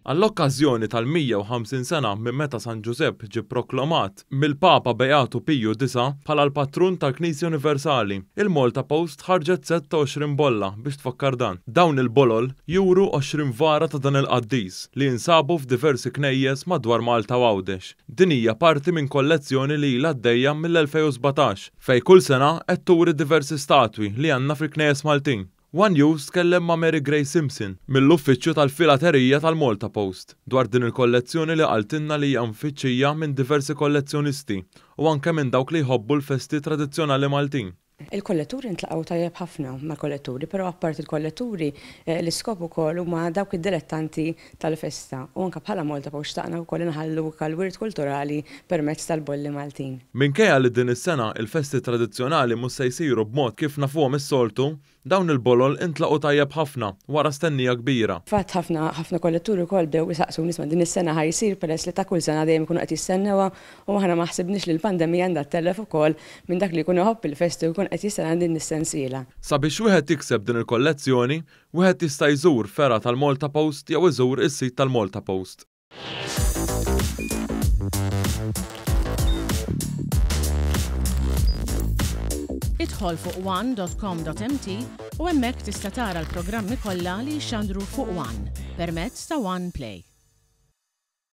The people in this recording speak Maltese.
Għall-okkażjoni tal-150 sena minn meta San Ġużepp ġie pproklamat mill-Papa Beatu Piju Disa' bħala l-Patrun tal-Knisja Universali, il-Malta Post ħarġet sett ta' 20 bolla biex tfakkar dan. Dawn il-bolol juru 20 vara ta' dan il-qaddis li jinsabu f'diversi knejjes madwar Malta u Għawdex. Din hija parti minn kollezzjoni li ilha għaddejja mill-2017 fejn kull sena qed turi diversi statwi li għandna fil-knejjes Maltin. One News tkellem ma' Mary Grace Simpson, mill-Uffiċċju tal-Filaterija tal-Malta Post, dwar din il-kollezzjoni li qaltilna li hija mfittxija minn diversi kollezzjonisti u anke minn dawk li jħobbu l-festi tradizzjonali Maltin. Il-kolletturi ntlaqgħu tajjeb ħafna mal-kolletturi, però apparti l-kolletturi, l-iskop ukoll huma dawk id-dilettanti tal-festa u anke bħala Malta Post xtaqna wkoll inħallu anke l-wirt kulturali permezz tal-bolli Maltin. Minkejja li din is-sena il-festi tradizzjonali mhux se jsiru b'mod kif nafuhom is-soltu, Dawn il-bolol intlaqgħu tajjeb ħafna wara stennija kbira. Fatt ħafna ħafna kolletturi wkoll bdew isaqsuni isma' din is-sena ħa jsir peress li ta' kull sena dejjem ikunu qed jistennewha u aħna ma ħsibniex li l-pandemija għandha ttellef ukoll minn dak li jkun iħobb il-festi u jkun qed jistenna din is-sensiela. Sabiex wieħed jikseb din il-kollezzjoni, wieħed jista' jżur fergħa tal-Malta Post jew iżur is-sit tal-Malta Post. Idħol fuq one.com.mt u hemmhekk tista' tara l-programmi kollha li jixxandru fuq One permezz ta' One Play.